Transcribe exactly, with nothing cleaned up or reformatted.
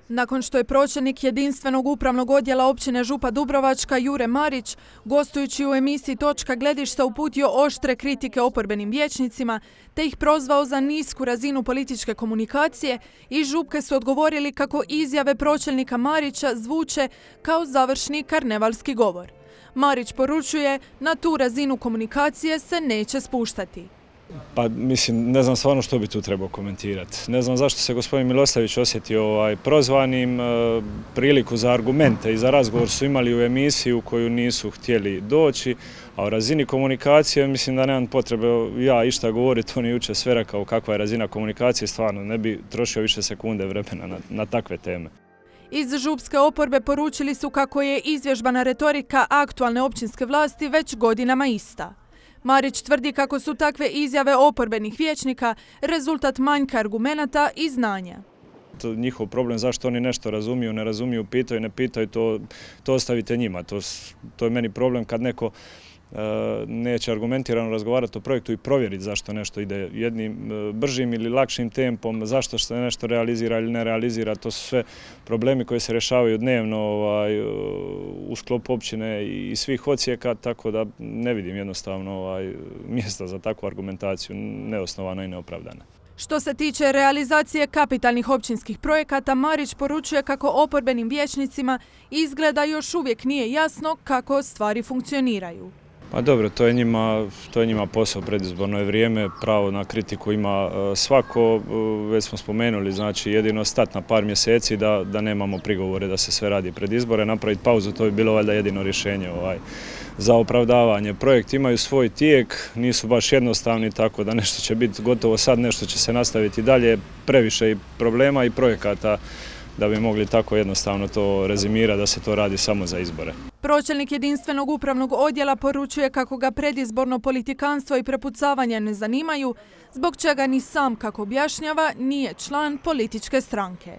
Nakon što je pročelnik jedinstvenog upravnog odjela općine Župa Dubrovačka Jure Marić, gostujući u emisiji Točka gledišta, uputio oštre kritike oporbenim vijećnicima te ih prozvao za nisku razinu političke komunikacije, iz Župke su odgovorili kako izjave pročelnika Marića zvuče kao završni karnevalski govor. Marić poručuje, na tu razinu komunikacije se neće spuštati. Pa mislim, ne znam stvarno što bi tu trebao komentirati. Ne znam zašto se gospodin Milosavljević osjetio ovaj, prozvanim. E, priliku za argumente i za razgovor su imali u emisiji u koju nisu htjeli doći, a o razini komunikacije mislim da nemam potrebe ja išta govoriti, on je jučer sve rekao kakva je razina komunikacije, stvarno ne bi trošio više sekunde vremena na, na takve teme. Iz župske oporbe poručili su kako je izvježbana retorika aktualne općinske vlasti već godinama ista. Marić tvrdi kako su takve izjave oporbenih vijećnika rezultat manjka argumenata i znanja. To njihov problem zašto oni nešto razumiju, ne razumiju, pitaju, ne pitaju, to, to ostavite njima. To, to je meni problem kad neko e, neće argumentirano razgovarati o projektu i provjeriti zašto nešto ide jednim e, bržim ili lakšim tempom, zašto se nešto realizira ili ne realizira. To su sve problemi koji se rješavaju dnevno ovaj, u sklopu općine i svih odsjeka, tako da ne vidim jednostavno ovaj, mjesta za takvu argumentaciju, neosnovana i neopravdana. Što se tiče realizacije kapitalnih općinskih projekata, Marić poručuje kako oporbenim vijećnicima izgleda još uvijek nije jasno kako stvari funkcioniraju. Pa dobro, to je njima, to je njima posao, predizborno je vrijeme, pravo na kritiku ima svako, već smo spomenuli, znači jedino stat na par mjeseci da, da nemamo prigovore da se sve radi pred izbore, napraviti pauzu, to bi bilo valjda jedino rješenje ovaj, za opravdavanje. Projekti imaju svoj tijek, nisu baš jednostavni, tako da nešto će biti gotovo sad, nešto će se nastaviti dalje, previše i problema i projekata da bi mogli tako jednostavno to rezimirati da se to radi samo za izbore. Pročelnik jedinstvenog upravnog odjela poručuje kako ga predizborno politikanstvo i prepucavanja ne zanimaju, zbog čega ni sam, kako objašnjava, nije član političke stranke.